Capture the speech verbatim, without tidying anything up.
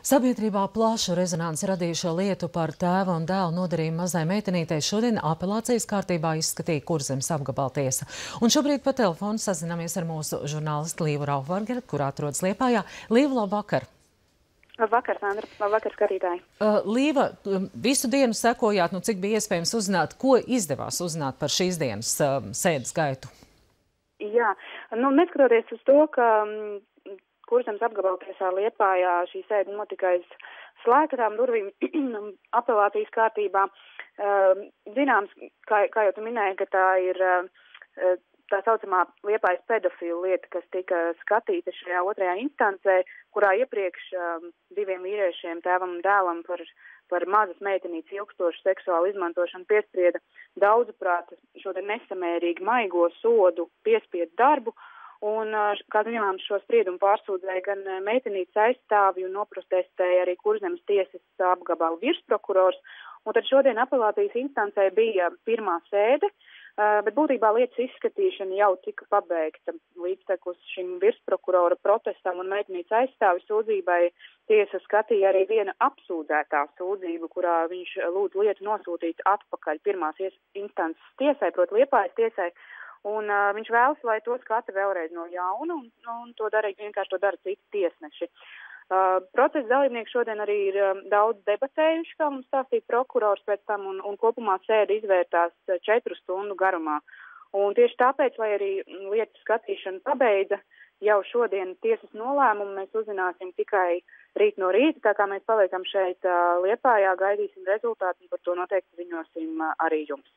Sabiedrībā plašu rezonanci radījušo lietu par tēva un dēla nodarījumu mazai meitenītei šodien apelācijas kārtībā izskatīja Kurzemes apgabaltiesa. Un šobrīd pa telefonu sazināmies ar mūsu žurnālistu Līvu Raufvargeru, kur atrodas Liepājā. Līva, labvakar! Labvakar, Sandra. Labvakar, skatītāji. Uh, Līva, visu dienu sekojāt, nu cik bija iespējams uzzināt, ko izdevās uzzināt par šīs dienas uh, sēdes gaitu? Jā, nu neskatoties uz to, ka Kurzemes apgabaltiesā Liepājā šī sēde notika aiz slēgtām durvīm apelācijas kārtībā. Uh, zināms, kā, kā jau tu minēji, ka tā ir uh, tā saucamā Liepājas pedofilu lieta, kas tika skatīta šajā otrajā instancē, kurā iepriekš um, diviem vīriešiem, tēvam un dēlam, par, par mazas meitenītes ilgstošu seksuālu izmantošanu piesprieda daudzuprāt šo te nesamērīgi maigo sodu piespiedu darbu. Un, kā zinām, šo spriedumu pārsūdzēja gan meitenītes aizstāvi un noprotestēja arī Kurzemes tiesas apgabala virsprokurors. Un tad šodien apelācijas instancē bija pirmā sēde, bet būtībā lietas izskatīšana jau tika pabeigta. Līdztekus šim virsprokurora protestam un meitenītes aizstāvi sūdzībai tiesa skatīja arī viena apsūdzētā sūdzību, kurā viņš lūdz lietu nosūtīt atpakaļ pirmās instances tiesai, proti Liepājas tiesai. Un uh, viņš vēlas, lai to skata vēlreiz no jauna, un, un to dara, vienkārši to dara citi tiesneši. Uh, procesa dalībnieki šodien arī ir um, daudz debatējuši, kā mums stāstīja prokurors pēc tam, un, un kopumā sēde izvērtās četru stundu garumā. Un tieši tāpēc, lai arī lietas skatīšana pabeidza, jau šodien tiesas nolēmumu mēs uzzināsim tikai rīt no rīta, tā kā mēs paliekam šeit uh, Liepājā, gaidīsim rezultātu, un par to noteikti ziņosim uh, arī jums.